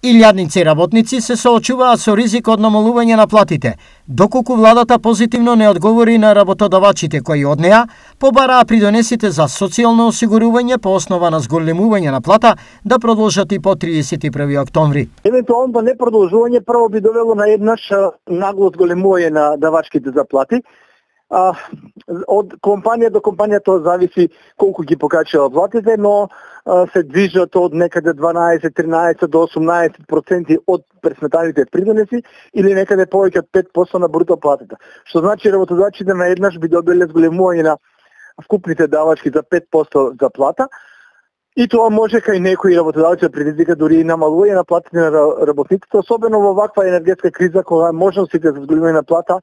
Илјадници работници се соочуваат со ризик од намалување на платите, доколку владата позитивно не одговори на работодавачите кои од неа побараа придонесите за социјално осигурување по основа на зголемување на плата да продолжат и по 31 октомври. Евентуално не продолжување прво би довело на еднаш нагло зголемување на давачките заплати. Од компанија до компанија тоа зависи колку ги покачува платите, но се движат од некаде 12, 13 до 18% од пресметаните придонеси или некаде повеќе од 5% на бруто платата. Што значи работодавачите на еднаш би добиле зголемување на вкупните давачки за 5% за плата. И тоа може кај некои работодавци да предизвика дури и намалување на платите на работниците, особено во ваква енергетска криза кога можностите за зголемување на плата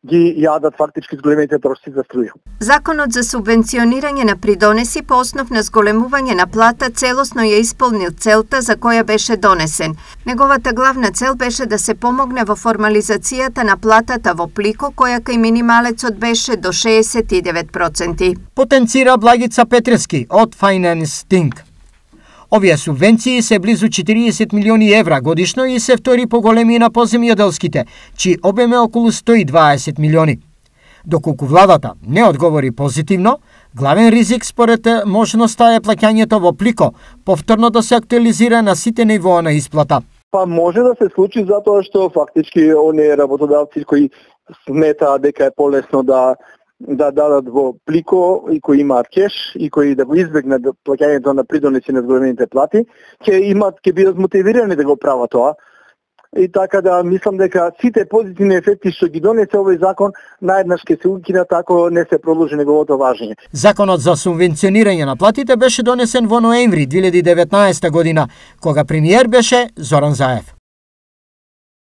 ги јадат фактички зголемените трошци за струја. Законот за субвенционирање на придонеси по основ на зголемување на плата целосно ја исполнил целта за која беше донесен. Неговата главна цел беше да се помогне во формализацијата на платата во плико, која кај минималецот беше до 69%. Потенцира Благица Петрески од Finance Think. Овие субвенции се близу 40 милиони евра годишно и се втори поголеми на поземјоделските, чиј обем е околу 120 милиони. Доколку владата не одговори позитивно, главен ризик според можноста е плаќањето во плико, повторно да се актуализира на сите нивоа на исплата. Па може да се случи затоа што фактички оние работодавци кои сметаат дека е полесно да дадат во плико и кои имаат кеш и кои да го избегнат плаќањето на придонеси на зголемените плати, ќе бидат мотивирани да го прават тоа. И така да мислам дека сите позитивни ефекти што ги донесе овој закон наеднаш ќе се укинат ако не се продолжи неговото важење. Законот за субвенционирање на платите беше донесен во ноември 2019 година, кога премиер беше Зоран Заев.